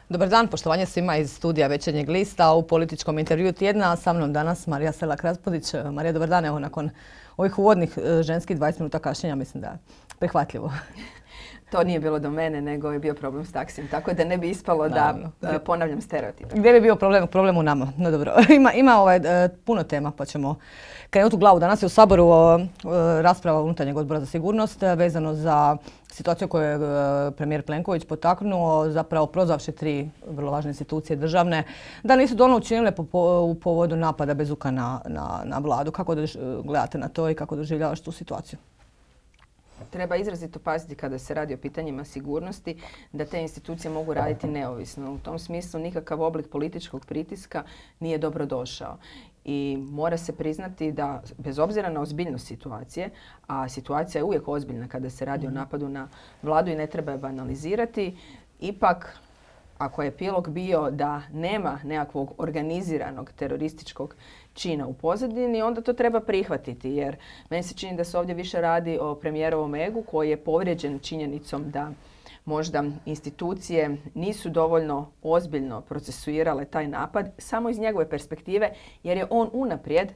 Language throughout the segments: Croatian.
Dobar dan, poštovanje svima iz studija Večernjeg lista u političkom intervjuu tjedna. Sa mnom danas Marija Selak-Raspudić. Marija, dobar dan. Evo, nakon ovih uvodnih ženskih 20 minuta kašnjenja, mislim da je prihvatljivo. To nije bilo do mene, nego je bio problem s taksijem. Tako da ne bi ispalo da ponavljam stereotipe. Gdje bi bio problem u nama? No dobro. Ima puno tema, pa ćemo krenuti u glavu. Danas je u Saboru rasprava unutarnjeg odbora za sigurnost vezano za situaciju koju je premijer Plenković potaknuo, zapravo prozvavši 3 vrlo važne institucije državne, da nisu dovoljno učinile u povodu napada Bezuka na vladu. Kako gledate na to i kako doživljavaš tu situaciju? Treba izrazito paziti kada se radi o pitanjima sigurnosti da te institucije mogu raditi neovisno. U tom smislu nikakav oblik političkog pritiska nije dobro došao. I mora se priznati da bez obzira na ozbiljnost situacije, a situacija je uvijek ozbiljna kada se radi o napadu na vladu i ne treba je banalizirati, ipak ako je epilog bio da nema nekakvog organiziranog terorističkog čina u pozadini, onda to treba prihvatiti, jer meni se čini da se ovdje više radi o premijerovom egu koji je povrijeđen činjenicom da možda institucije nisu dovoljno ozbiljno procesuirale taj napad samo iz njegove perspektive, jer je on unaprijed,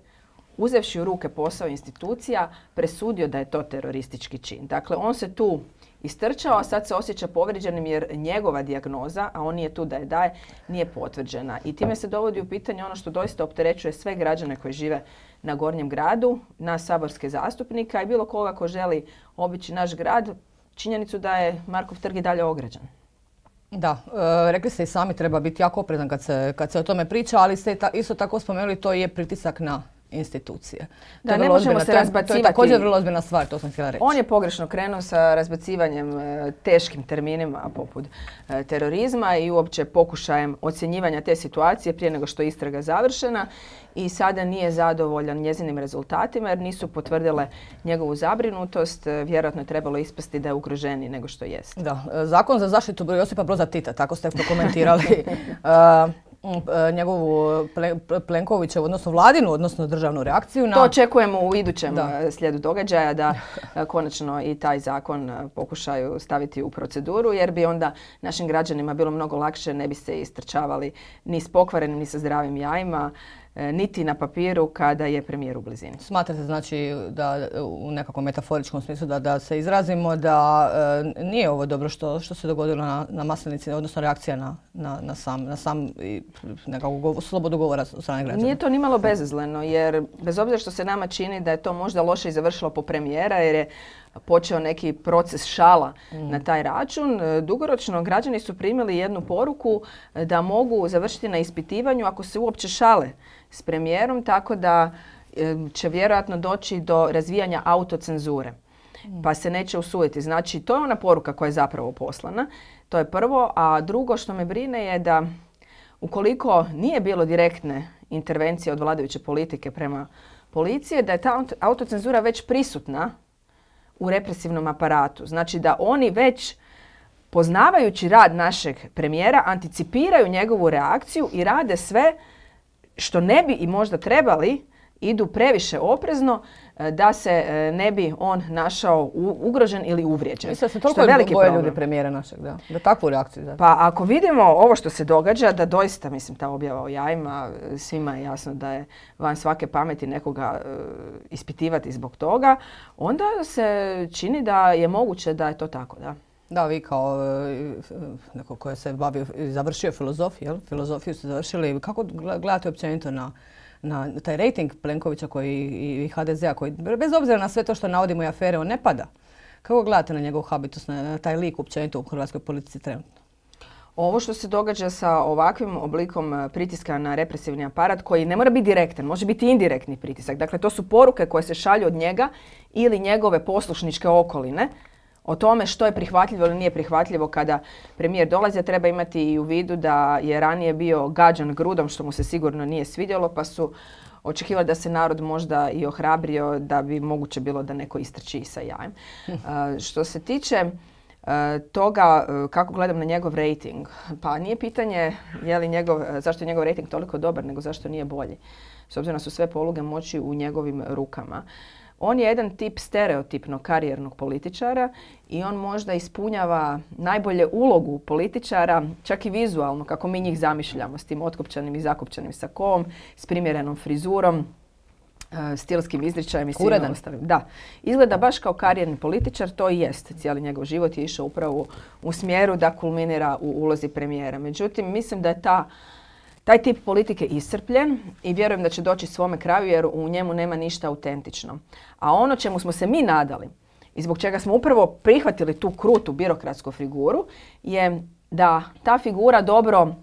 uzevši u ruke posao institucija, presudio da je to teroristički čin. Dakle, on se tu istrčao, a sad se osjeća povrijeđenim jer njegova dijagnoza, a on nije tu da je daje, nije potvrđena. I time se dovodi u pitanje ono što doista opterećuje sve građane koji žive na Gornjem gradu, nas saborske zastupnika i bilo koga ko želi obići naš grad, činjenicu da je Markov trg i dalje ograđen. Da, rekli ste i sami, treba biti jako oprezan kad se o tome priča, ali ste isto tako spomenuli, to je pritisak na institucije. Da, ne možemo se razbacivati. To je također vrlo ozbiljna stvar, to sam htjela reći. On je pogrešno krenuo sa razbacivanjem teškim terminima poput terorizma i uopće pokušajem ocjenjivanja te situacije prije nego što je istraga završena i sada nije zadovoljan njezinim rezultatima jer nisu potvrdile njegovu zabrinutost. Vjerojatno je trebalo ispasti da je ugroženiji nego što jest. Da, zakon za zaštitu Josipa Broza Tita, tako ste prokomentirali. Njegovu Plenkovićevu, odnosno vladinu, odnosno državnu reakciju na... To očekujemo u idućem slijedu događaja da konačno i taj zakon pokušaju staviti u proceduru jer bi onda našim građanima bilo mnogo lakše, ne bi se istrčavali ni s pokvarenim ni sa zdravim jajima, niti na papiru kada je premijer u blizini. Smatrate znači da u nekakvom metaforičkom smislu da se izrazimo da nije ovo dobro što se dogodilo na Maslenici, odnosno reakcija na sam nekakvu slobodu govora od strane građana? Nije to nimalo bezazleno jer bez obzira što se nama čini da je to možda loše i završilo po premijera jer je počeo neki proces šala na taj račun. Dugoročno građani su primili jednu poruku da mogu završiti na ispitivanju ako se uopće šale s premijerom, tako da će vjerojatno doći do razvijanja autocenzure, pa se neće usuditi. Znači, to je ona poruka koja je zapravo poslana. To je prvo, a drugo što me brine je da ukoliko nije bilo direktne intervencije od vladajuće politike prema policiji, da je ta autocenzura već prisutna u represivnom aparatu. Znači da oni već poznavajući rad našeg premijera anticipiraju njegovu reakciju i rade sve što ne bi i možda trebali, idu previše oprezno da se ne bi on našao ugrožen ili uvrijeđen. Mislim da se toliko boje ljudi premijera našeg, da takvu reakciju. Da. Pa ako vidimo ovo što se događa, da doista, mislim, ta objava o jajima, svima je jasno da je van svake pameti nekoga ispitivati zbog toga, onda se čini da je moguće da je to tako, da. Da, vi kao neko koji se bavio i završio filozofiju ste završili. Kako gledate općenito na taj rejting Plenkovića i HDZ-a koji bez obzira na sve to što navodimo i afere, on ne pada? Kako gledate na njegov habitus, na taj lik općenito u hrvatskoj politici trenutno? Ovo što se događa sa ovakvim oblikom pritiska na represivni aparat koji ne mora biti direktan, može biti indirektni pritisak. Dakle, to su poruke koje se šalju od njega ili njegove poslušničke okoline o tome što je prihvatljivo ili nije prihvatljivo kada premijer dolazi, a treba imati i u vidu da je ranije bio gađan grudom, što mu se sigurno nije svidjelo, pa su očekivali da se narod možda i ohrabrio da bi moguće bilo da neko istrči sa jajem. Što se tiče toga kako gledam na njegov rejting, pa nije pitanje zašto je njegov rejting toliko dobar, nego zašto nije bolji. S obzirom da su sve poluge moći u njegovim rukama. On je jedan tip stereotipnog karijernog političara i on možda ispunjava najbolje ulogu političara, čak i vizualno, kako mi njih zamišljamo, s tim otkopčanim i zakopčanim sakom, s primjerenom frizurom, stilskim izričajem i svim ostalim. Da, izgleda baš kao karijerni političar, to i jest. Cijeli njegov život je išao upravo u smjeru da kulminira u ulozi premijera. Međutim, mislim da je taj tip politike iscrpljen i vjerujem da će doći svome kraju jer u njemu nema ništa autentično. A ono čemu smo se mi nadali i zbog čega smo upravo prihvatili tu krutu birokratsku figuru je da ta figura dobro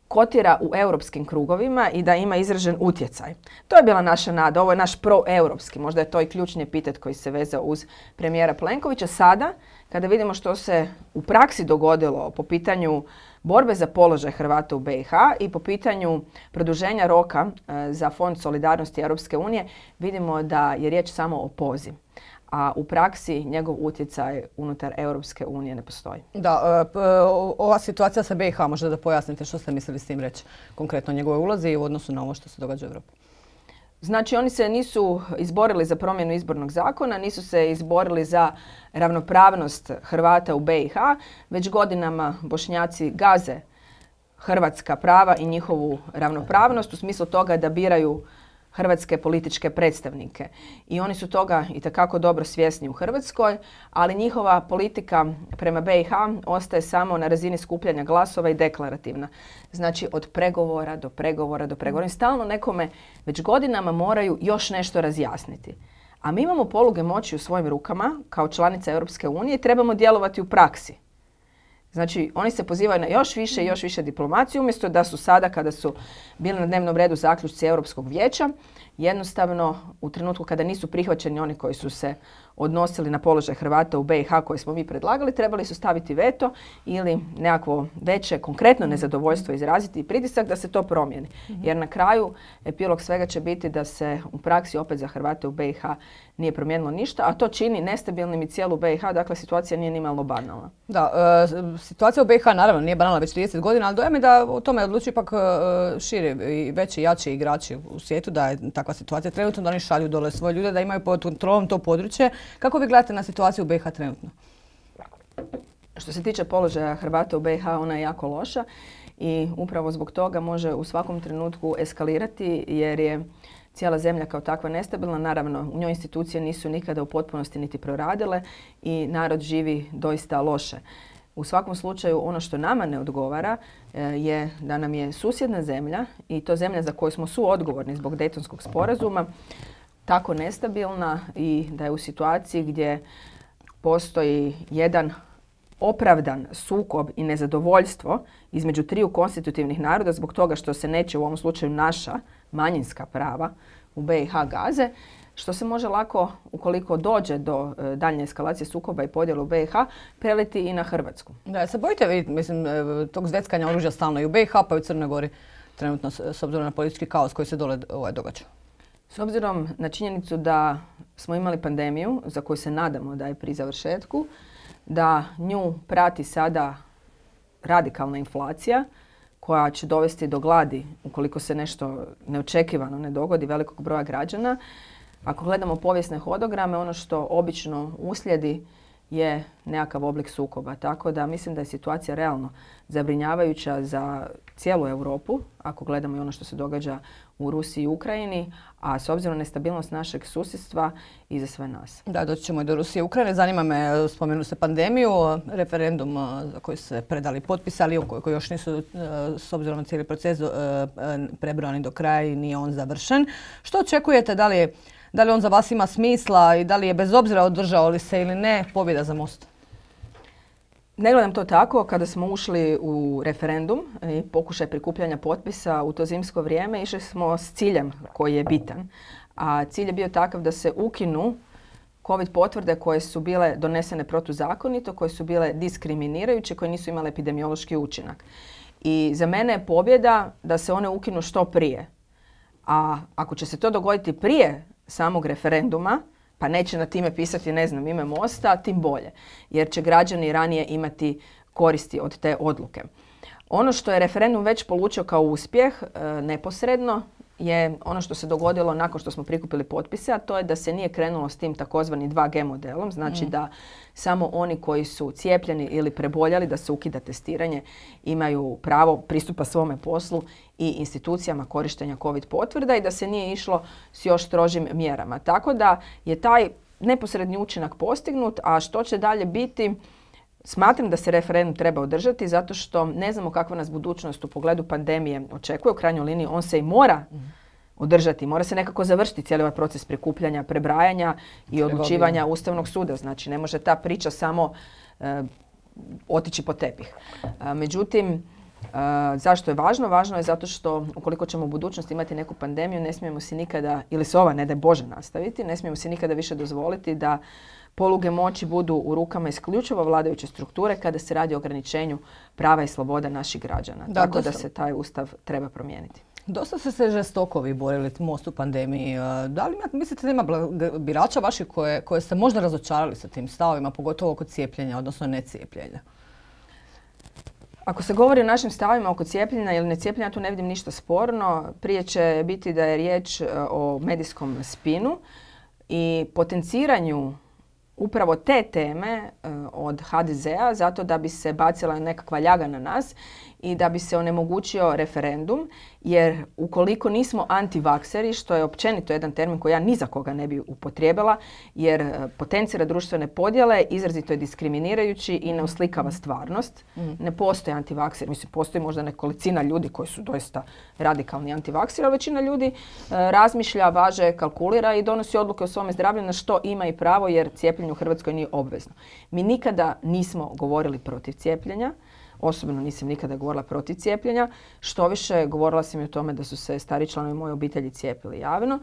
kotira u europskim krugovima i da ima izražen utjecaj. To je bila naša nada, ovo je naš proeuropski, možda je to i ključni epitet koji se vezao uz premijera Plenkovića. Sada, kada vidimo što se u praksi dogodilo po pitanju borbe za položaj Hrvata u BiH i po pitanju produženja roka za Fond solidarnosti Europske unije, vidimo da je riječ samo o pozi. A u praksi njegov utjecaj unutar Europske unije ne postoji. Da, ova situacija sa BiH, možda da pojasnite što ste mislili s tim reći konkretno o njegovoj ulozi u odnosu na ovo što se događa u Europi. Znači, oni se nisu izborili za promjenu izbornog zakona, nisu se izborili za ravnopravnost Hrvata u BiH, već godinama Bošnjaci gaze hrvatska prava i njihovu ravnopravnost u smislu toga da biraju hrvatske političke predstavnike. I oni su toga itekako dobro svjesni u Hrvatskoj, ali njihova politika prema BiH ostaje samo na razini skupljanja glasova i deklarativna. Znači od pregovora do pregovora do pregovora. I stalno nekome već godinama moraju još nešto razjasniti. A mi imamo poluge moći u svojim rukama kao članica Europske unije i trebamo djelovati u praksi. Znači, oni se pozivaju na još više i još više diplomacije, umjesto da su sada, kada su bili na dnevnom redu zaključci Europskog vijeća, jednostavno u trenutku kada nisu prihvaćeni oni koji su se odnosili na položaj Hrvata u BiH koje smo mi predlagali, trebali su staviti veto ili nekakvo veće konkretno nezadovoljstvo izraziti i pritisak da se to promijeni. Jer na kraju epilog svega će biti da se u praksi opet za Hrvate u BiH nije promijenilo ništa, a to čini nestabilnim i cijelu BiH, dakle situacija nije nimalo banalna. Da, situacija u BiH naravno nije banalna već 30 godina, ali dojam je da o tome odlučuju ipak širi i veći i jači igrači u svijetu, da je takva situacija trenutno, da oni šalju dole svoje ljude, da imaju pod kontrolom to područje. Kako vi gledate na situaciju u BiH trenutno? Što se tiče položaja Hrvata u BiH, ona je jako loša i upravo zbog toga može u svakom trenutku eskalirati jer je cijela zemlja kao takva nestabilna. Naravno, u njoj institucije nisu nikada u potpunosti niti proradile i narod živi doista loše. U svakom slučaju, ono što nama ne odgovara je da nam je susjedna zemlja i to zemlja za koju smo suodgovorni zbog Dejtonskog sporazuma tako nestabilna i da je u situaciji gdje postoji jedan opravdan sukob i nezadovoljstvo između triju konstitutivnih naroda zbog toga što se neće u ovom slučaju naša manjinska prava u BiH gaze, što se može lako, ukoliko dođe do daljnje eskalacije sukoba i podjela u BiH, preliti i na Hrvatsku. Da, se bojite vi, mislim, tog zveckanja oružja stalno i u BiH pa i u Crnoj Gori trenutno s obzirom na politički kaos koji se dole događa? S obzirom na činjenicu da smo imali pandemiju za koju se nadamo da je pri završetku, da nju prati sada radikalna inflacija koja će dovesti do gladi ukoliko se nešto neočekivano ne dogodi velikog broja građana. Ako gledamo povijesne hodograme, ono što obično uslijedi je nekakav oblik sukoba. Tako da mislim da je situacija realno zabrinjavajuća za cijelu Europu, ako gledamo i ono što se događa u Rusiji i Ukrajini, a s obzirom na nestabilnost našeg susjedstva i za sve nas. Da, doći ćemo i do Rusije i Ukrajine. Zanima me, spomenu se pandemiju, referendum za koji se predali potpisali, koji još nisu, s obzirom na cijeli proces, prebrojani do kraja i nije on završen. Što očekujete, da li on za vas ima smisla i da li je bez obzira održao li se ili ne pobjeda za Most? Ne gledam to tako. Kada smo ušli u referendum i pokušaj prikupljanja potpisa u to zimsko vrijeme, išli smo s ciljem koji je bitan. A cilj je bio takav da se ukinu COVID potvrde koje su bile donesene protuzakonito, koje su bile diskriminirajuće, koje nisu imale epidemiološki učinak. I za mene je pobjeda da se one ukinu što prije. A ako će se to dogoditi prije samog referenduma, pa neće na time pisati, ne znam, ime Mosta, tim bolje. Jer će građani ranije imati koristi od te odluke. Ono što je referendum već polučio kao uspjeh neposredno je ono što se dogodilo nakon što smo prikupili potpise, a to je da se nije krenulo s tim takozvani 2G modelom, znači da samo oni koji su cijepljeni ili preboljali, da se ukida testiranje, imaju pravo pristupa svome poslu i institucijama korištenja COVID potvrda i da se nije išlo s još strožim mjerama. Tako da je taj neposredni učinak postignut, a što će dalje biti, smatram da se referendum treba održati zato što ne znamo kakva nas budućnost u pogledu pandemije očekuje. U krajnjoj liniji on se i mora održati, mora se nekako završiti cijeli ovaj proces prikupljanja, prebrajanja i odlučivanja Ustavnog suda. Znači ne može ta priča samo otići po tepih. Međutim, zašto je važno? Važno je zato što ukoliko ćemo u budućnosti imati neku pandemiju, ne smijemo si nikada, ili se ova ne daj Bože nastaviti, ne smijemo si nikada više dozvoliti da poluge moći budu u rukama isključivo vladajuće strukture kada se radi o ograničenju prava i sloboda naših građana. Tako da se taj Ustav treba promijeniti. Dosta ste se žestoko vi borili Most u pandemiji. Da li mislite da ima birača vaših koje ste možda razočarali sa tim stavovima, pogotovo oko cijepljenja, odnosno necijepljenja? Ako se govori o našim stavima oko cijepljenja ili necijepljenja, tu ne vidim ništa sporno. Prije će biti da je riječ o medijskom spinu i potenciranju upravo te teme od HDZ-a zato da bi se bacila nekakva ljaga na nas i da bi se onemogućio referendum, jer ukoliko nismo antivakseri, što je općenito jedan termin koji ja ni za koga ne bi upotrijebila, jer potencira društvene podjele, izrazito je diskriminirajući i ne uslikava stvarnost. Ne postoji antivakseri, mislim postoji možda nekolicina ljudi koji su doista radikalni antivakseri, ali većina ljudi razmišlja, važe, kalkulira i donosi odluke o svome zdravlju na što ima i pravo, jer cijepljenje u Hrvatskoj nije obvezno. Mi nikada nismo govorili protiv cijepljenja. Osobno nisam nikada govorila protiv cijepljenja. Štoviše, govorila sam i o tome da su se stari članovi moje obitelji cijepili javno.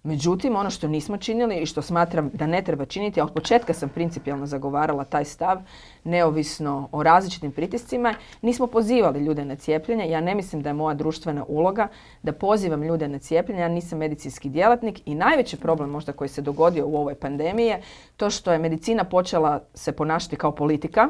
Međutim, ono što nismo činili i što smatram da ne treba činiti, a od početka sam principijelno zagovarala taj stav, neovisno o različitim pritiscima, nismo pozivali ljude na cijepljenje. Ja ne mislim da je moja društvena uloga da pozivam ljude na cijepljenje. Ja nisam medicinski djelatnik i najveći problem možda koji se dogodio u ovoj pandemiji je to što je medicina počela se ponašati kao politika.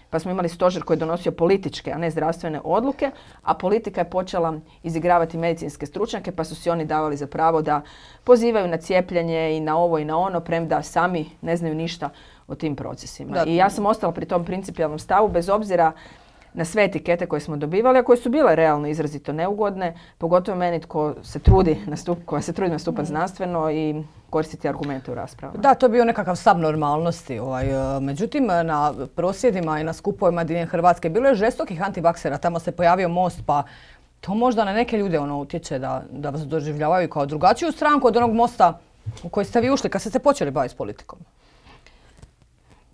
Pa smo imali stožer koji je donosio političke, a ne zdravstvene odluke, a politika je počela izigravati medicinske stručnjake, pa su si oni davali za pravo da pozivaju na cijepljenje i na ovo i na ono, premda sami ne znaju ništa o tim procesima. I ja sam ostala pri tom principijelnom stavu, bez obzira na sve etikete koje smo dobivali, a koje su bile realno izrazito neugodne, pogotovo meni koja se trudi nastupati znanstveno i koristiti argumente u raspravama. Da, to je bio nekakav stav normalnosti. Međutim, na prosvjedima i na skupovima diljem Hrvatske bilo je žestokih antivaksera. Tamo se pojavio Most, pa to možda na neke ljude utječe da vas doživljavaju kao drugačiju stranku od onog Mosta u koji ste vi ušli kad ste se počeli baviti s politikom.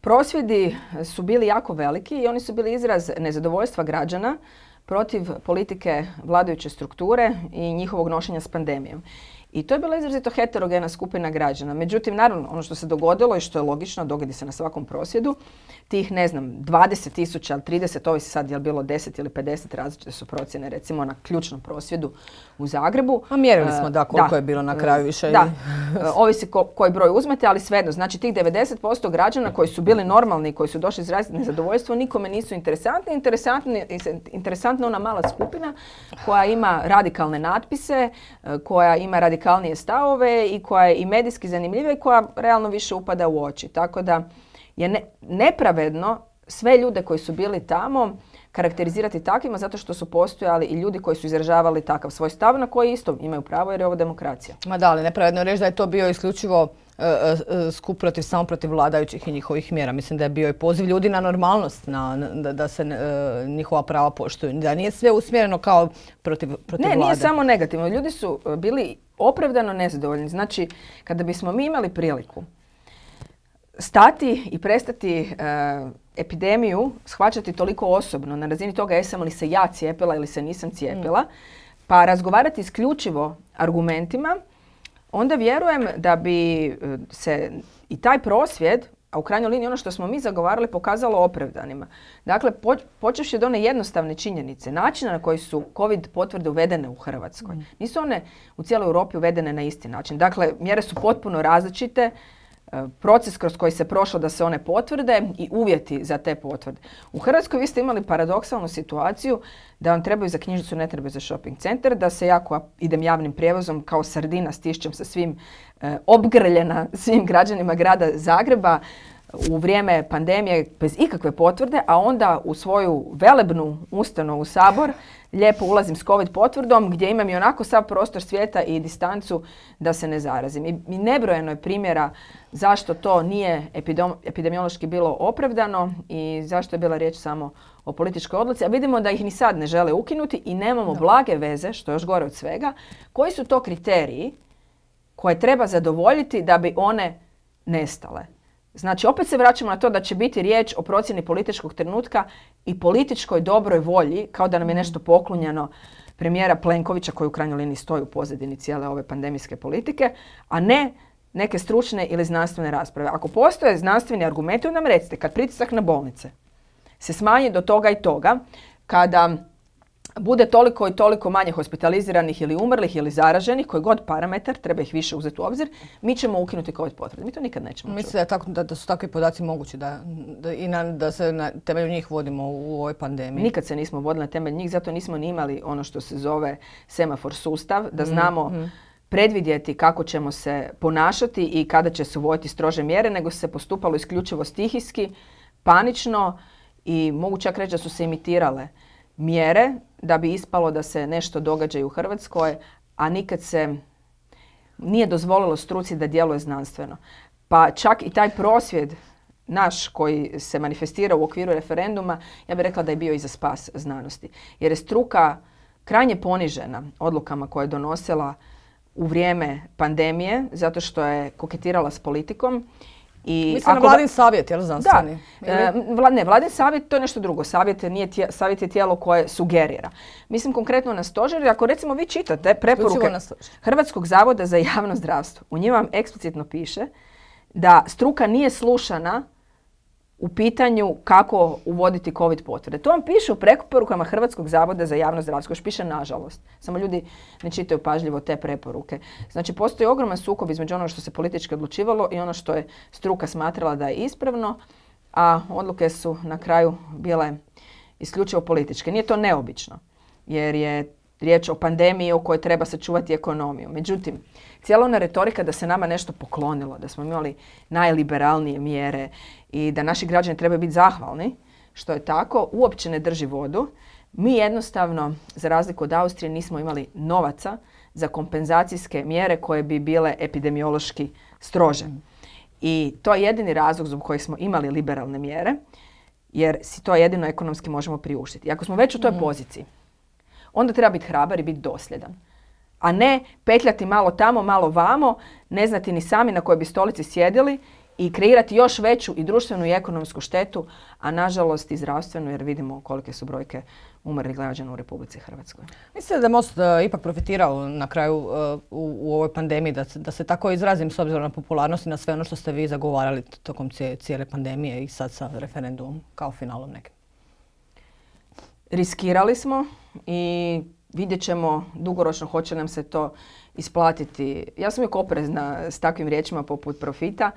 Prosvjedi su bili jako veliki i oni su bili izraz nezadovoljstva građana protiv politike vladajuće strukture i njihovog nošenja s pandemijom. I to je bila izrazito heterogena skupina građana. Međutim, naravno, ono što se dogodilo i što je logično, dogodi se na svakom prosvjedu, tih, 20.000, 30, ovisi sad je li bilo 10 ili 50, različite su procjene, recimo na ključnom prosvjedu u Zagrebu. A mjerili smo koliko je bilo na kraju više. Da, ovisi koji broj uzmete, ali svejedno, znači tih 90% građana koji su bili normalni i koji su došli izraziti nezadovoljstvo, nikome nisu interesantni. Interesantna ona mala skupina koja ima radikalne natpise, koja ima radikalnije stavove i koja je i medijski zanimljiva i koja realno više upada u oči. Tako da je nepravedno sve ljude koji su bili tamo karakterizirati takvima zato što su postojali i ljudi koji su izražavali takav svoj stav na koji isto imaju pravo jer je ovo demokracija. Ma da, ali nepravedno reći da je to bio isključivo skup samo protiv vladajućih i njihovih mjera. Mislim da je bio i poziv ljudi na normalnost, da se njihova prava poštuju. Da nije sve usmjereno kao protiv vlade. Ne, nije samo negativno. Ljudi su bili opravdano nezadovoljni. Znači, kada bismo mi imali priliku stati i prestati epidemiju shvaćati toliko osobno na razini toga jesam li se ja cijepila ili se nisam cijepila, pa razgovarati isključivo argumentima, onda vjerujem da bi se i taj prosvjed, a u krajnjoj liniji ono što smo mi zagovarali, pokazalo opravdanima. Dakle, počevši od one jednostavne činjenice, načina na koji su COVID potvrde uvedene u Hrvatskoj. Nisu one u cijeloj Europi uvedene na isti način. Dakle, mjere su potpuno različite, proces kroz koji se prošlo da se one potvrde i uvjeti za te potvrde. U Hrvatskoj vi ste imali paradoksalnu situaciju da vam trebaju za knjižnicu, ne trebaju za shopping centar, da se jako idem javnim prijevozom kao sardina stišćem sa svim obgrljena svim građanima grada Zagreba u vrijeme pandemije bez ikakve potvrde, a onda u svoju velebnu ustanovu Sabor lijepo ulazim s COVID potvrdom gdje imam i onako sav prostor svijeta i distancu da se ne zarazim. I nebrojeno je primjera zašto to nije epidemiološki bilo opravdano i zašto je bila riječ samo o političkoj odluci, a vidimo da ih ni sad ne žele ukinuti i nemamo blage veze, što je još gore od svega, koji su to kriteriji koje treba zadovoljiti da bi one nestale. Znači, opet se vraćamo na to da će biti riječ o procjeni političkog trenutka i političkoj dobroj volji, kao da nam je nešto poklonjeno premijera Plenkovića, koji u krajnjoj liniji stoji u pozadini cijele ove pandemijske politike, a ne neke stručne ili znanstvene rasprave. Ako postoje znanstveni argumenti, onda nam recite, kad pritisak na bolnice se smanji do toga i toga, kada bude toliko i toliko manje hospitaliziranih ili umrlih ili zaraženih, koji god parametar, treba ih više uzeti u obzir, mi ćemo ukinuti COVID potvrde. Mi to nikad nećemo čuti. Mislim da su takvi podaci mogući da se na temelju njih vodimo u ovoj pandemiji. Nikad se nismo vodili na temelju njih, zato nismo ni imali ono što se zove semafor sustav, da znamo predvidjeti kako ćemo se ponašati i kada će se uvoditi strože mjere, nego se postupalo isključivo stihijski, panično i mogu čak reći da su se imitirale mjere da bi ispalo da se nešto događa i u Hrvatskoj, a nikad se nije dozvolilo struci da djeluje znanstveno. Pa čak i taj prosvjed naš koji se manifestira u okviru referenduma, ja bih rekla da je bio i za spas znanosti. Jer je struka krajnje ponižena odlukama koje je donosila u vrijeme pandemije, zato što je koketirala s politikom. Mislim na Vladin savjet, je li znanstveni? Da. Ne, Vladin savjet to je nešto drugo. Savjet je tijelo koje sugerira. Mislim konkretno na stožer. Ako recimo vi čitate preporuke Hrvatskog zavoda za javno zdravstvo, u njima vam eksplicitno piše da struka nije slušana u pitanju kako uvoditi COVID potvrde. To vam piše u preporukama Hrvatskog zavoda za javno zdravstvo. Još piše nažalost. Samo ljudi ne čitaju pažljivo te preporuke. Znači, postoji ogroman sukob između onoga što se politički odlučivalo i ono što je struka smatrala da je ispravno, a odluke su na kraju bile isključivo političke. Nije to neobično, jer je riječ o pandemiji u kojoj treba sačuvati ekonomiju. Međutim, cijela ona retorika da se nama nešto poklonilo, da smo imali najliberalnije mjere i da naši građani trebaju biti zahvalni, što je tako, uopće ne drži vodu. Mi jednostavno, za razliku od Austrije, nismo imali novaca za kompenzacijske mjere koje bi bile epidemiološki strože. I to je jedini razlog zbog kojeg smo imali liberalne mjere, jer si to jedino ekonomski možemo priuštiti. I ako smo već u toj poziciji, onda treba biti hrabar i biti dosljedan. A ne petljati malo tamo, malo vamo, ne znati ni sami na kojoj bi stolici sjedili i kreirati još veću i društvenu i ekonomsku štetu, a nažalost i zdravstvenu, jer vidimo kolike su brojke umrlih građana u Republici Hrvatskoj. Mislite da je Most ipak profitirao na kraju u ovoj pandemiji, da se tako izrazim s obzirom na popularnost i na sve ono što ste vi zagovarali tokom cijele pandemije i sad sa referendumom kao finalom nekim? Riskirali smo i vidjet ćemo dugoročno hoće nam se to isplatiti. Ja sam uvijek oprezna s takvim riječima poput profita.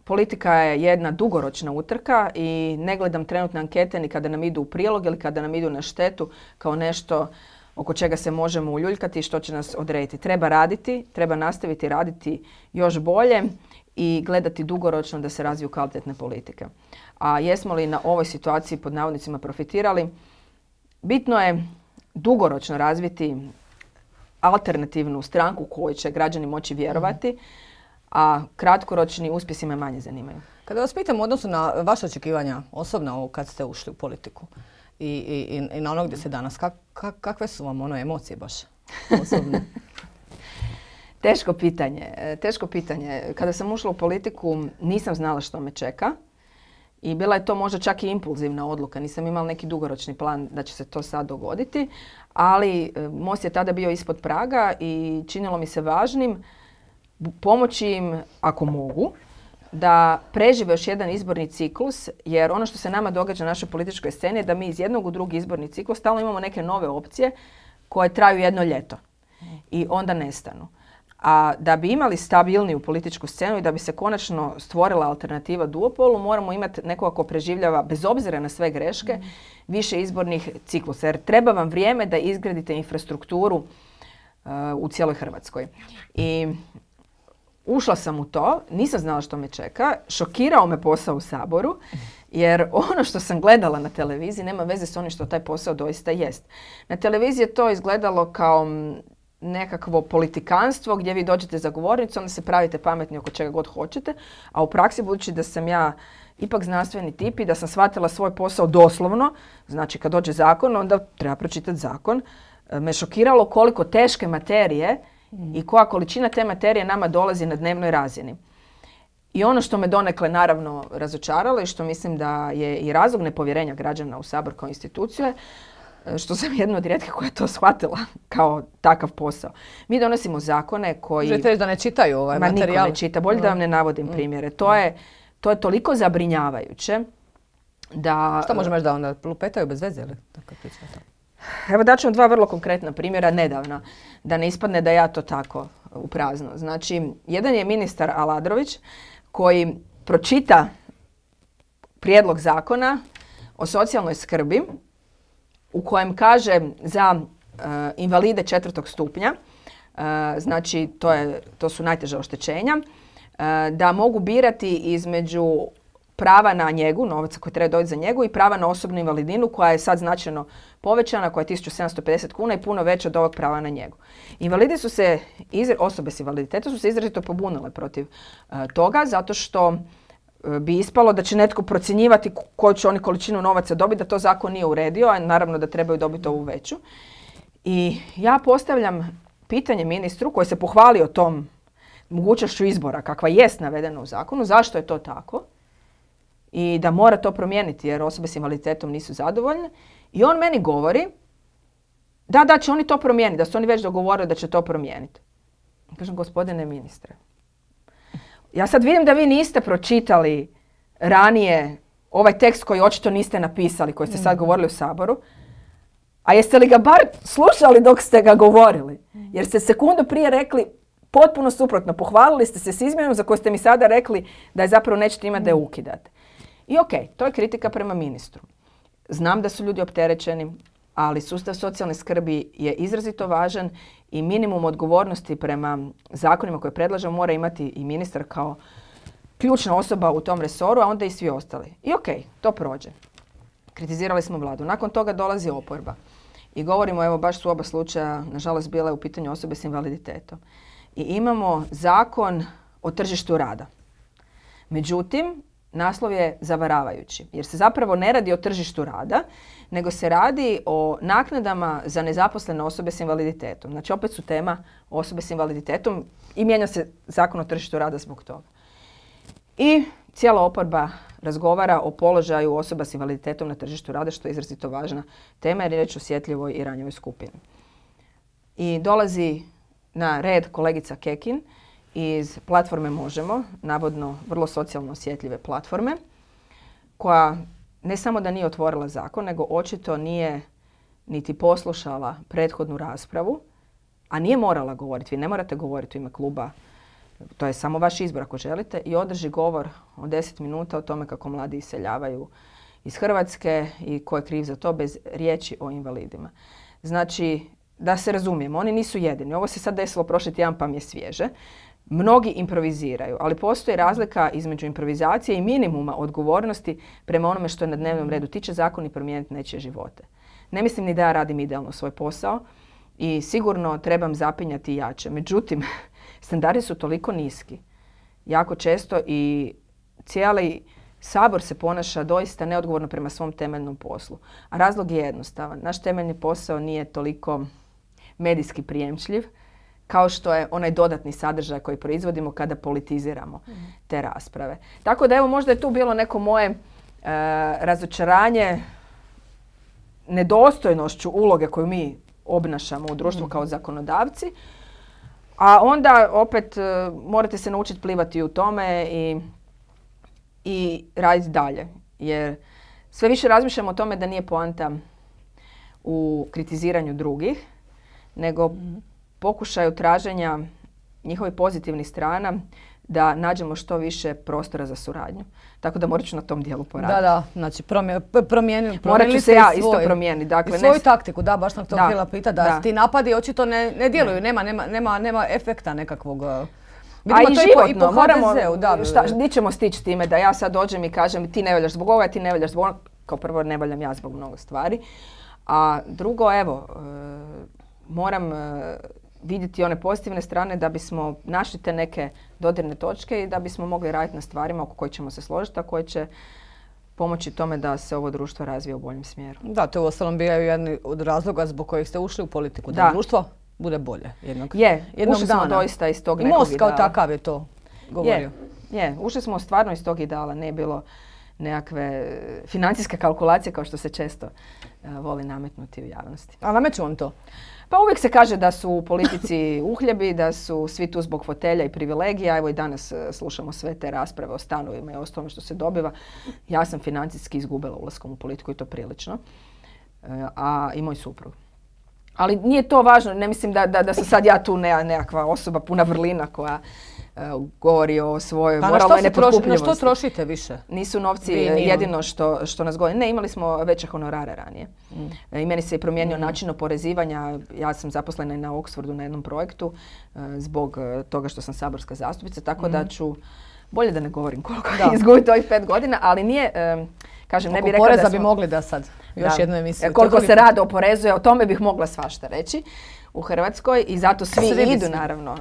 Politika je jedna dugoročna utrka i ne gledam trenutne ankete ni kada nam idu u prilog ili kada nam idu na štetu kao nešto oko čega se možemo uljuljkati i što će nas odrediti. Treba raditi, treba nastaviti raditi još bolje i gledati dugoročno da se razviju kvalitetne politike. A jesmo li na ovoj situaciji pod navodnicima profitirali? Bitno je dugoročno razviti alternativnu stranku kojoj će građani moći vjerovati, a kratkoročni uspjesi me manje zanimaju. Kada vas pitam u odnosu na vaše očekivanja osobno kad ste ušli u politiku i na ono gdje ste danas, kakve su vam emocije baš osobne? Teško pitanje. Kada sam ušla u politiku nisam znala što me čeka i bila je to možda čak i impulzivna odluka. Nisam imala neki dugoročni plan da će se to sad dogoditi, ali Most je tada bio ispod praga i činilo mi se važnim pomoći im, ako mogu, da prežive još jedan izborni ciklus, jer ono što se nama događa na našoj političkoj sceni je da mi iz jednog u drugi izborni ciklus stalno imamo neke nove opcije koje traju jedno ljeto i onda nestanu. A da bi imali stabilniju političku scenu i da bi se konačno stvorila alternativa duopolu, moramo imati nekoga ko preživljava, bez obzira na sve greške, više izbornih ciklusa. Jer treba vam vrijeme da izgradite infrastrukturu u cijeloj Hrvatskoj. I ušla sam u to, nisam znala što me čeka, šokirao me posao u Saboru, jer ono što sam gledala na televiziji nema veze s onim što taj posao doista jest. Na televiziji je to izgledalo kao nekakvo politikanstvo gdje vi dođete za govornicu, onda se pravite pametni oko čega god hoćete, a u praksi, budući da sam ja ipak znanstveni tip i da sam shvatila svoj posao doslovno, znači kad dođe zakon, onda treba pročitati zakon, me šokiralo koliko teške materije i koja količina te materije nama dolazi na dnevnoj razini. I ono što me donekle naravno razočaralo i što mislim da je i razlog nepovjerenja građana u Sabor kao instituciju je što sam jedna od rijetkih koja je to shvatila kao takav posao. Mi donosimo zakone koji... Želite reći da ne čitaju ovaj materijal? Niko ne čita. Bolje da vam ne navodim primjere. To je toliko zabrinjavajuće da... Što možemo reći da onda lupetaju bez veze ili tako priča? Evo daću vam dva vrlo konkretna primjera nedavna, da ne ispadne da ja to tako u prazno. Znači, jedan je ministar Aladrović koji pročita prijedlog zakona o socijalnoj skrbi u kojem kaže za invalide 4. stupnja, znači to su najteža oštećenja, da mogu birati između prava na njegu, novaca koji treba dobiti za njegu, i prava na osobnu invalidninu koja je sad značajno povećana, koja je 1750 kuna i puno veća od ovog prava na njegu. Osobe s invaliditetom su se izrazito pobunile protiv toga, zato što bi ispalo da će netko procjenjivati koju će oni količinu novaca dobiti, da to zakon nije uredio, a naravno da trebaju dobiti ovu veću. I ja postavljam pitanje ministru koji se pohvalio tom mogućnošću izbora kakva jest navedena u zakonu, zašto je to tako i da mora to promijeniti jer osobe s invaliditetom nisu zadovoljne. I on meni govori da će oni to promijeniti, da su oni već dogovorili da će to promijeniti. Kažem, gospodine ministre, ja sad vidim da vi niste pročitali ranije ovaj tekst koji očito niste napisali, koji ste sad govorili u Saboru, a jeste li ga bar slušali dok ste ga govorili? Jer ste sekundu prije rekli potpuno suprotno, pohvalili ste se s izmjenom za koju ste mi sada rekli da je zapravo nećete imati da je ukidate. I to je kritika prema ministru. Znam da su ljudi opterećeni, ali sustav socijalne skrbi je izrazito važan i minimum odgovornosti prema zakonima koje predlažemo mora imati i ministar kao ključna osoba u tom resoru, a onda i svi ostali. I to prođe. Kritizirali smo vladu. Nakon toga dolazi oporba. I govorimo, evo baš su oba slučaja, nažalost, bile u pitanju osobe s invaliditetom. I imamo zakon o tržištu rada. Međutim, naslov je zavaravajući, jer se zapravo ne radi o tržištu rada, nego se radi o naknadama za nezaposlene osobe s invaliditetom. Znači, opet su tema osobe s invaliditetom i mijenja se zakon o tržištu rada zbog toga. I cijela oporba razgovara o položaju osoba s invaliditetom na tržištu rada, što je izrazito važna tema jer je riječ o osjetljivoj i ranjivoj skupini. I dolazi na red kolegica Kekin iz platforme Možemo, navodno vrlo socijalno osjetljive platforme, koja ne samo da nije otvorila zakon, nego očito nije niti poslušala prethodnu raspravu, a nije morala govoriti. Vi ne morate govoriti u ime kluba, to je samo vaš izbor ako želite, i održi govor od 10 minuta o tome kako mladi iseljavaju iz Hrvatske i ko je kriv za to bez riječi o invalidima. Znači, da se razumijemo, oni nisu jedini. Ovo se sad desilo prošli tjedan pa mi je svježe. Mnogi improviziraju, ali postoji razlika između improvizacije i minimuma odgovornosti prema onome što je na dnevnom redu. Ti će zakoni promijeniti nečije živote. Ne mislim ni da ja radim idealno svoj posao i sigurno trebam zapinjati jače. Međutim, standardi su toliko niski. Jako često i cijeli Sabor se ponaša doista neodgovorno prema svom temeljnom poslu. A razlog je jednostavan. Naš temeljni posao nije toliko medijski prijemčljiv kao što je onaj dodatni sadržaj koji proizvodimo kada politiziramo te rasprave. Tako da evo možda je tu bilo neko moje razočaranje nedostojnošću uloge koju mi obnašamo u društvu kao zakonodavci, a onda opet morate se naučiti plivati u tome i raditi dalje. Jer sve više razmišljamo o tome da nije poanta u kritiziranju drugih, nego pokušaju traženja njihovih pozitivnih strana da nađemo što više prostora za suradnju. Tako da morat ću na tom dijelu poraditi. Da, znači promijenili morat ću se ja isto promijeniti. Dakle, i svoju taktiku, da, baš sam to htjela pitati, da ti napadi očito ne djeluju, nema efekta nekakvog. A i životno, moramo, di ćemo stići time da ja sad dođem i kažem ti ne valjaš zbog ovoga, ti ne valjaš zbog onoga. Kao prvo ne valjam ja zbog mnogo stvari. A drugo, evo, moram vidjeti one pozitivne strane da bismo našli te neke dodirne točke i da bismo mogli raditi na stvarima oko kojih ćemo se složiti, a koje će pomoći tome da se ovo društvo razvije u boljem smjeru. Da, to uostalom bio jedan od razloga zbog kojih ste ušli u politiku, da društvo bude bolje jednog ušli smo doista iz tog nekog ideala. Most kao takav je to govorio. Ušli smo stvarno iz tog ideala, ne je bilo nekakve financijske kalkulacije kao što se često voli nametnuti u javnosti. A nameću vam to? Pa uvijek se kaže da su u politici uhljebi, da su svi tu zbog fotelja i privilegija. Evo i danas slušamo sve te rasprave o stanovima i o tome što se dobiva. Ja sam financijski izgubila ulaskom u politiku i to prilično. A i moj suprug. Ali nije to važno, ne mislim da sam sad ja tu nekakva osoba puna vrlina koja govori o svojoj moralnoj nepotkupljivosti. Na što trošite više? Nisu novci jedino što nas govori. Ne, imali smo veće honorare ranije. I meni se je promijenio način oporezivanja. Ja sam zaposlena na Oxfordu na jednom projektu zbog toga što sam saborska zastupnica, tako da ću, bolje da ne govorim koliko izgubiti ovih 5 godina, ali nije, kažem, ne bih rekla poreza bi mogli da sad još jednu emisiju. Koliko se rado oporezuje, o tome bih mogla svašta reći u Hrvatskoj i zato svi idu naravno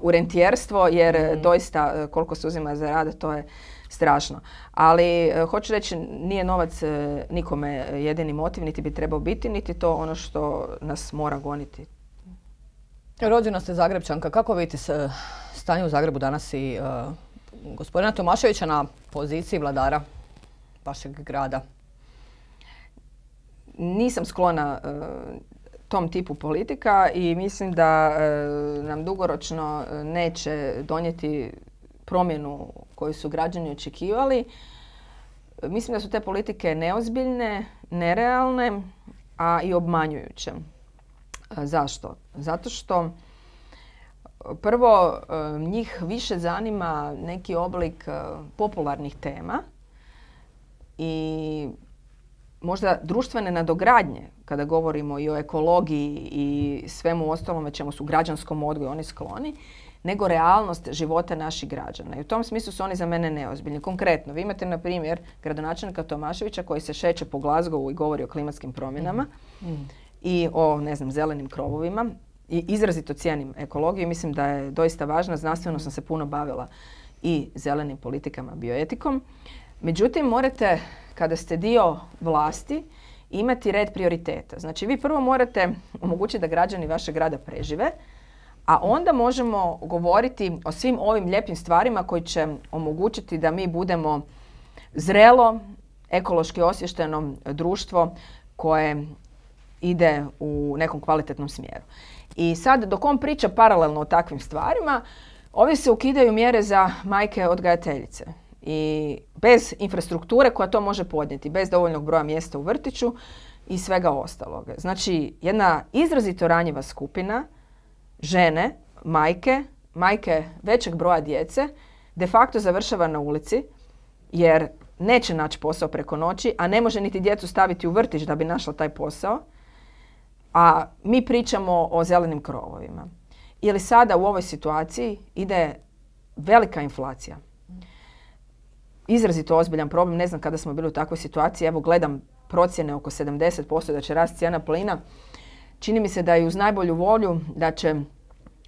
u rentijerstvo jer doista koliko se uzima za rad to je strašno. Ali hoću reći nije novac nikome jedini motiv, niti bi trebao biti, niti to ono što nas mora goniti. Rođena ste Zagrepčanka, kako vidite stanje u Zagrebu danas i gospodina Tomaševića na poziciji vladara vašeg grada? Nisam sklona tom tipu politika i mislim da nam dugoročno neće donijeti promjenu koju su građani očekivali. Mislim da su te politike neozbiljne, nerealne, a i obmanjujuće. Zašto? Zato što prvo njih više zanima neki oblik popularnih tema i možda društvene nadogradnje, kada govorimo i o ekologiji i svemu ostalome čemu su građanskom odgoju oni skloni, nego realnost života naših građana. I u tom smislu su oni za mene neozbiljni. Konkretno, vi imate, na primjer, gradonačelnika Tomaševića koji se šeće po Glasgowu i govori o klimatskim promjenama i o, zelenim krovovima. I izrazito cijenim ekologiju. Mislim da je doista važna. Znanstveno sam se puno bavila i zelenim politikama, bioetikom. Međutim, morate, kada ste dio vlasti, imati red prioriteta. Znači, vi prvo morate omogućiti da građani vašeg grada prežive, a onda možemo govoriti o svim ovim lijepim stvarima koji će omogućiti da mi budemo zrelo, ekološki osviješteno društvo koje ide u nekom kvalitetnom smjeru. I sad, dok on priča paralelno o takvim stvarima, ovdje se ukidaju mjere za majke odgajateljice. I bez infrastrukture koja to može podnijeti, bez dovoljnog broja mjesta u vrtiću i svega ostalog. Znači, jedna izrazito ranjiva skupina, žene, majke većeg broja djece, de facto završava na ulici jer neće naći posao preko noći, a ne može niti djecu staviti u vrtić da bi našla taj posao. A mi pričamo o zelenim krovovima. Ili sada u ovoj situaciji ide velika inflacija. Izrazito ozbiljan problem, ne znam kada smo bili u takvoj situaciji, evo gledam procjene oko 70% da će rast cijena plina. Čini mi se da je uz najbolju volju da će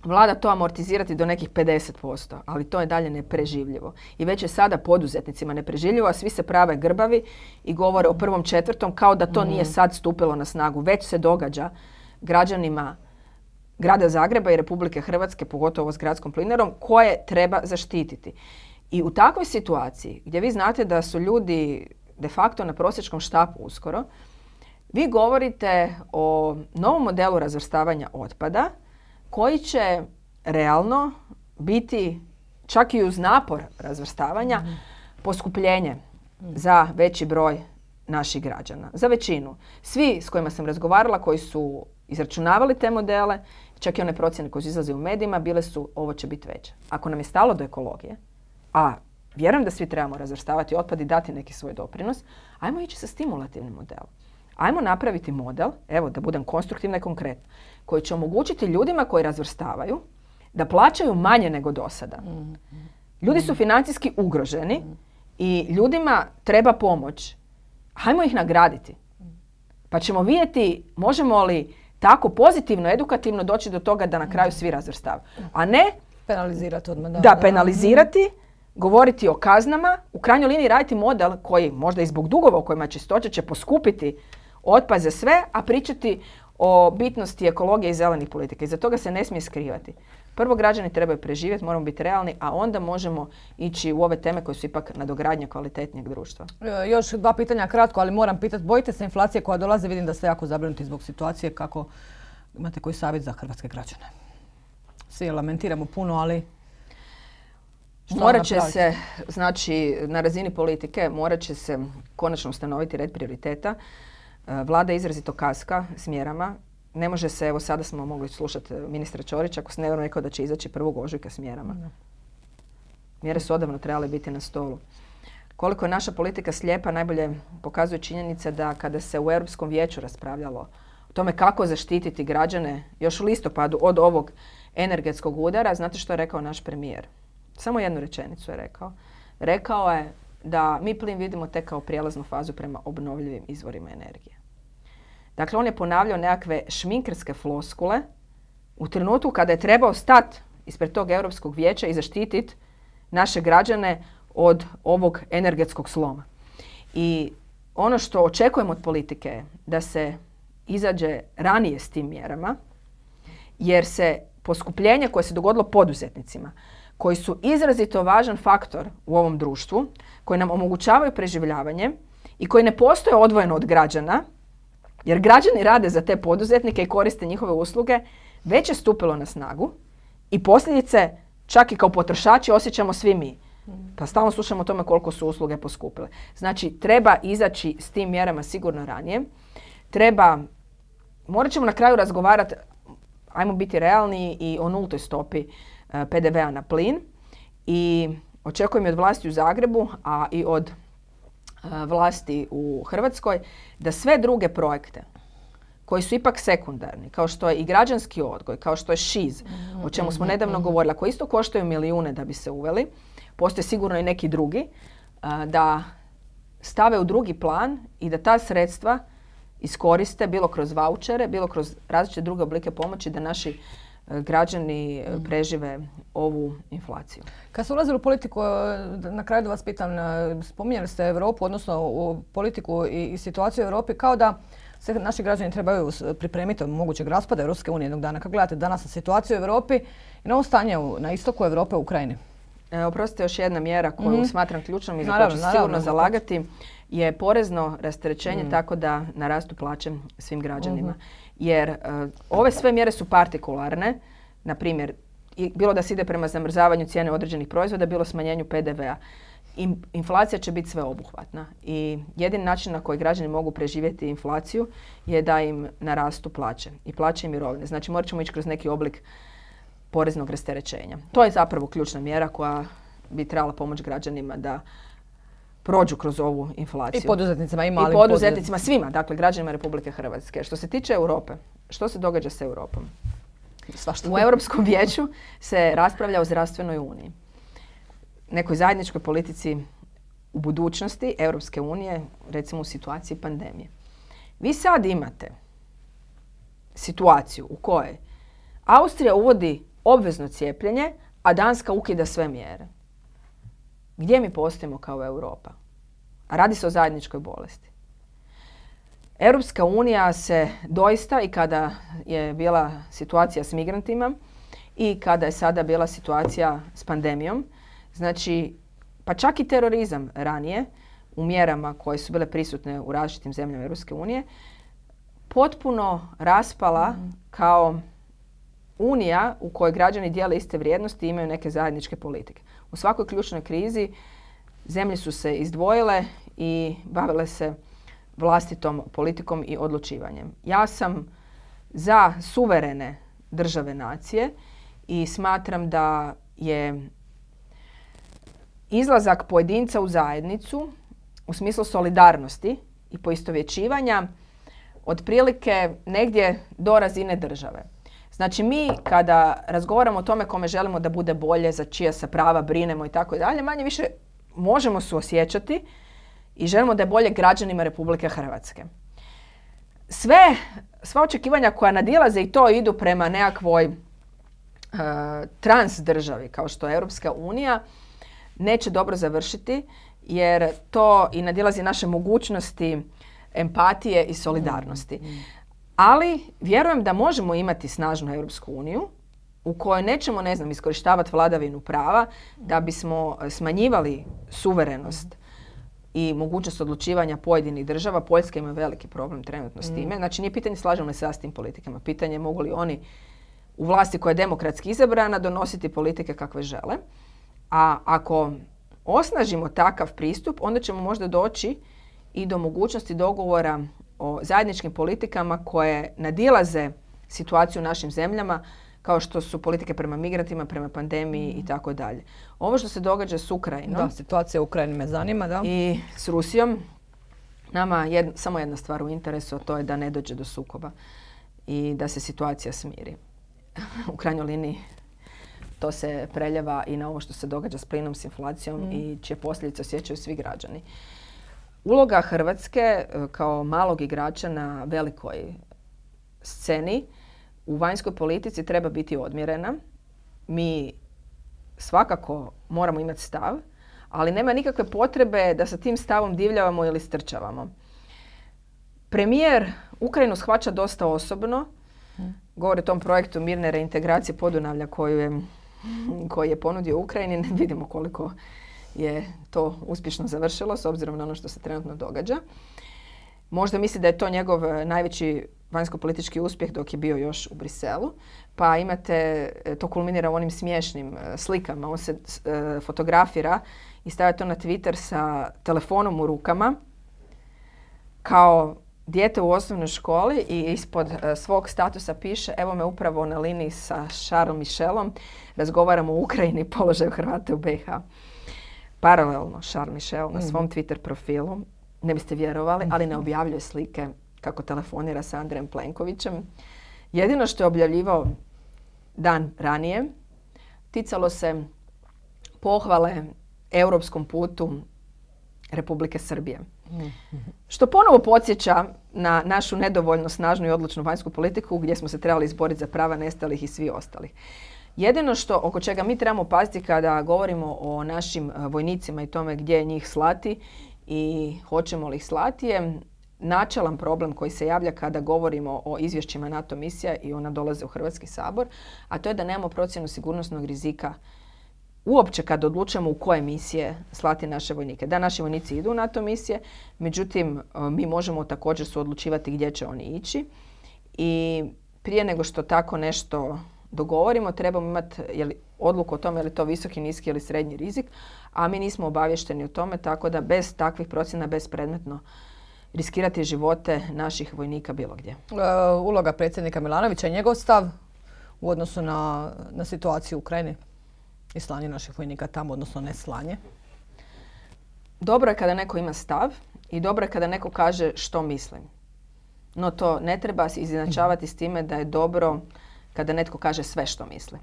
vlada to amortizirati do nekih 50%, ali to je dalje nepreživljivo. I već je sada poduzetnicima nepreživljivo, a svi se prave grbavi i govore o 1.4. kao da to nije sad stupilo na snagu. Već se događa građanima grada Zagreba i Republike Hrvatske, pogotovo s gradskom plinarom, koje treba zaštititi. I u takvoj situaciji, gdje vi znate da su ljudi de facto na prosječkom štapu uskoro, vi govorite o novom modelu razvrstavanja otpada koji će realno biti, čak i uz napor razvrstavanja, poskupljenje za veći broj naših građana. Za većinu. Svi s kojima sam razgovarala, koji su izračunavali te modele čak i one procjene koje su izlaze u medijima, bile su ovo će biti veće. Ako nam je stalo do ekologije, a vjerujem da svi trebamo razvrstavati otpad i dati neki svoj doprinos, ajmo ići sa stimulativnim modelom. Ajmo napraviti model, evo da budem konstruktivna i konkretna, koji će omogućiti ljudima koji razvrstavaju da plaćaju manje nego do sada. Ljudi su financijski ugroženi i ljudima treba pomoć. Hajmo ih nagraditi. Pa ćemo vidjeti možemo li tako pozitivno, edukativno doći do toga da na kraju svi razvrstavaju. A ne penalizirati odmah. Da, penalizirati, govoriti o kaznama, u krajnjoj liniji raditi model koji možda i zbog dugova u kojima čistoća će poskupiti otpad za sve, a pričati o bitnosti ekologije i zelenih politika. Iza toga se ne smije skrivati. Prvo, građani trebaju preživjeti, moramo biti realni, a onda možemo ići u ove teme koje su ipak nadogradnja kvalitetnijeg društva. Još 2 pitanja kratko, ali moram pitati, bojite se inflacije koja dolaze? Vidim da ste jako zabrinuti zbog situacije. Kako imate koji savjet za hrvatske građane? Svi lamentiramo puno, ali morat će se, znači na razini politike, morat će se konačno ustanoviti red prioriteta. Vlada izrazito kaska s mjerama. Ne može se, evo sada smo mogli slušati ministra Ćorića, ako se ne rekao da će izaći 1. ožujka s mjerama. Mjere su odavno trebale biti na stolu. Koliko je naša politika slijepa, najbolje pokazuje činjenica da kada se u Europskom vijeću raspravljalo o tome kako zaštititi građane još u listopadu od ovog energetskog udara, znate što je rekao naš premijer? Samo jednu rečenicu je rekao. Rekao je da mi plin vidimo tek kao prijelaznu fazu prema obnovljivim izvorima energije. Dakle, on je ponavljao nekakve šminkerske floskule u trenutku kada je trebao stati ispred tog Europskog vijeća i zaštititi naše građane od ovog energetskog sloma. I ono što očekujemo od politike je da se izađe ranije s tim mjerama, jer se poskupljenje koje se dogodilo poduzetnicima, koji su izrazito važan faktor u ovom društvu, koji nam omogućavaju preživljavanje i koji ne postoje odvojeno od građana, jer građani rade za te poduzetnike i koriste njihove usluge, već je stupilo na snagu i posljedice čak i kao potrošači osjećamo svi mi. Pa stalno slušamo o tome koliko su usluge poskupile. Znači, treba izaći s tim mjerama sigurno ranije. Morat ćemo na kraju razgovarati, ajmo biti realni, i o nultoj stopi PDV-a na plin. I očekujem i od vlasti u Zagrebu, a i od vlasti u Hrvatskoj, da sve druge projekte koji su ipak sekundarni, kao što je i građanski odgoj, kao što je ŠIZ, o čemu smo nedavno govorili, koji isto koštaju milijune da bi se uveli, postoje sigurno i neki drugi, da stave u drugi plan i da ta sredstva iskoriste bilo kroz vaučere, bilo kroz različite druge oblike pomoći da naši građani prežive ovu inflaciju. Kad ste ulazili u politiku, na kraju da vas pitam, spominjali ste Europu, odnosno u politiku i situaciju u Europi, kao da se naši građani trebaju pripremiti od mogućeg raspada Europske unije jednog dana. Kako gledate danas na situaciju u Europi i na ovo stanje na istoku Europe u Ukrajini? Oprostite, još jedna mjera koju smatram ključnom i za koju ću sigurno zalagati je porezno rasterećenje tako da narastu plaće svim građanima. Jer ove sve mjere su partikularne, na primjer, bilo da se ide prema zamrzavanju cijene određenih proizvoda, bilo smanjenju PDV-a. Inflacija će biti sveobuhvatna i jedini način na koji građani mogu preživjeti inflaciju je da im narastu plaće i plaće i mirovine. Znači, morat ćemo ići kroz neki oblik poreznog rasterećenja. To je zapravo ključna mjera koja bi trebala pomoći građanima da prođu kroz ovu inflaciju. I poduzetnicima, i malim poduzetnicima, svima, dakle građanima Republike Hrvatske. Što se tiče Europe, što se događa s Europom? U Europskom vijeću se raspravlja o zdravstvenoj uniji. Nekoj zajedničkoj politici u budućnosti Europske unije, recimo u situaciji pandemije. Vi sad imate situaciju u kojoj Austrija uvodi obvezno cijepljenje, a Danska ukida sve mjere. Gdje mi postojimo kao Europa? A radi se o zajedničkoj bolesti. Europska unija se doista, i kada je bila situacija s migrantima i kada je sada bila situacija s pandemijom, znači, pa čak i terorizam ranije, u mjerama koje su bile prisutne u različitim zemljama Europske unije, potpuno raspala kao unija u kojoj građani dijele iste vrijednosti i imaju neke zajedničke politike. U svakoj ključnoj krizi zemlje su se izdvojile i bavile se vlastitom politikom i odlučivanjem. Ja sam za suverene države nacije i smatram da je izlazak pojedinca u zajednicu u smislu solidarnosti i poistovjećivanja otprilike negdje do razine države. Znači mi kada razgovaramo o tome kome želimo da bude bolje, za čija se prava brinemo i tako dalje, manje više možemo suosjećati i želimo da je bolje građanima Republike Hrvatske. Sva očekivanja koja nadilaze i to idu prema nekakvoj trans državi kao što je Europska unija neće dobro završiti jer to i nadilazi naše mogućnosti empatije i solidarnosti. Ali vjerujem da možemo imati snažnu Europsku uniju u kojoj nećemo, iskorištavati vladavinu prava da bismo smanjivali suverenost i mogućnost odlučivanja pojedinih država. Poljska ima veliki problem trenutno s time. Znači nije pitanje slažemo li se s tim politikama. Pitanje je mogu li oni u vlasti koja je demokratski izabrana donositi politike kakve žele. A ako osnažimo takav pristup, onda ćemo možda doći i do mogućnosti dogovora o zajedničkim politikama koje nadilaze situaciju u našim zemljama, kao što su politike prema migrantima, prema pandemiji i tako dalje. Ovo što se događa s Ukrajinom... Da, situacija u Ukrajini me zanima, da. I s Rusijom, nama samo jedna stvar u interesu, a to je da ne dođe do sukoba i da se situacija smiri. U krajnjoj liniji to se preljeva i na ovo što se događa s plinom, s inflacijom i čije posljedice osjećaju svi građani. Uloga Hrvatske kao malog igrača na velikoj sceni u vanjskoj politici treba biti odmjerena. Mi svakako moramo imati stav, ali nema nikakve potrebe da sa tim stavom divljavamo ili strčavamo. Premijer Ukrajinu shvaća dosta osobno. Govori o tom projektu mirne reintegracije Podunavlja koji je ponudio Ukrajini. Ne vidimo koliko je to uspješno završilo s obzirom na ono što se trenutno događa. Možda misli da je to njegov najveći vanjsko-politički uspjeh dok je bio još u Briselu. Pa imate, to kulminira u onim smiješnim slikama. On se fotografira i stavlja to na Twitter sa telefonom u rukama kao dijete u osnovnoj školi i ispod svog statusa piše evo me upravo na liniji sa Charles Michelom, razgovaramo o Ukrajini i položaju Hrvata u BiH. Paralelno Charles Michel na svom Twitter profilu, ne biste vjerovali, ali ne objavljuje slike kako telefonira sa Andrejem Plenkovićem. Jedino što je objavljivao dan ranije ticalo se pohvale europskom putu Republike Srbije. Što ponovo podsjeća na našu nedovoljno snažnu i odlučnu vanjsku politiku gdje smo se trebali izboriti za prava nestalih i svi ostalih. Jedino što oko čega mi trebamo paziti kada govorimo o našim vojnicima i tome gdje njih slati i hoćemo li ih slati je načelan problem koji se javlja kada govorimo o izvješćima NATO misija i ona dolaze u Hrvatski sabor, a to je da nemamo procjenu sigurnosnog rizika uopće kad odlučujemo u koje misije slati naše vojnike. Da, naši vojnici idu u NATO misije, međutim mi možemo također suodlučivati gdje će oni ići i prije nego što tako nešto dogovorimo trebamo imati odluku o tome je li to visoki, niski ili srednji rizik, a mi nismo obavješteni o tome, tako da bez takvih procjena bespredmetno riskirati živote naših vojnika bilo gdje. Uloga predsjednika Milanovića i njegov stav u odnosu na situaciju u Ukrajini i slanje naših vojnika tamo, odnosno ne slanje? Dobro je kada neko ima stav i dobro je kada neko kaže što mislim. No to ne treba se izjednačavati s time da je dobro kada netko kaže sve što misli.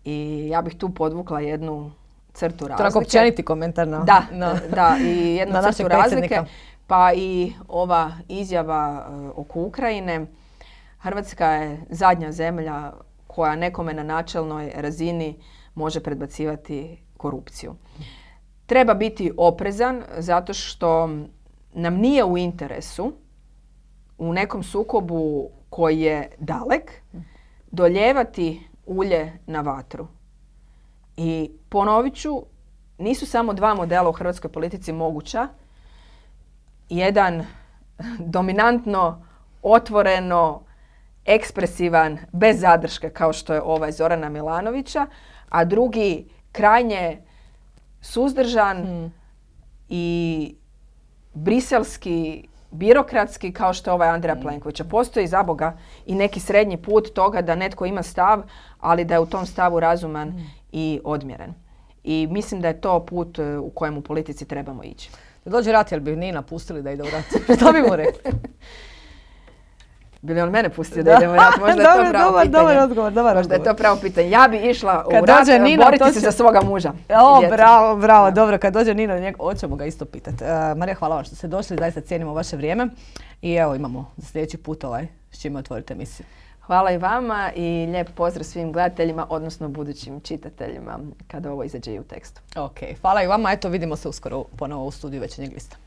I ja bih tu podvukla jednu crtu razlike. To je općeniti komentar Da, i jednu crtu razlike. Pa i ova izjava oko Ukrajine. Hrvatska je zadnja zemlja koja nekome na načelnoj razini može predbacivati korupciju. Treba biti oprezan zato što nam nije u interesu u nekom sukobu koji je dalek doljevati ulje na vatru. I ponovit ću, nisu samo dva modela u hrvatskoj politici moguća. Jedan dominantno, otvoreno, ekspresivan, bez zadrške kao što je ovaj Zorana Milanovića, a drugi krajnje suzdržan i briselski birokratski kao što je ovaj Andreja Plenkovića. Postoji za Boga i neki srednji put toga da netko ima stav, ali da je u tom stavu razuman i odmjeren. I mislim da je to put u kojem u politici trebamo ići. Da dođe rat, jel bi Nina pustili da ide u rat? Što bi mu rekli? Bi li on mene pustio da idemo u rat? Možda je to pravo pitanje. Dobar odgovor. Možda je to pravo pitanje. Ja bi išla u rat boriti se za svoga muža. Bravo, dobro. Kad dođe Nina, hoćemo ga isto pitati. Marija, hvala vam što ste došli, zaista cijenimo vaše vrijeme. I evo, imamo za sljedeći put s čime otvorite emisiju. Hvala i vama i lijep pozdrav svim gledateljima, odnosno budućim čitateljima kada ovo izađe i u tekstu. Ok, hvala i vama. Eto, vidimo se uskoro ponovo u studiju Večernjeg lista.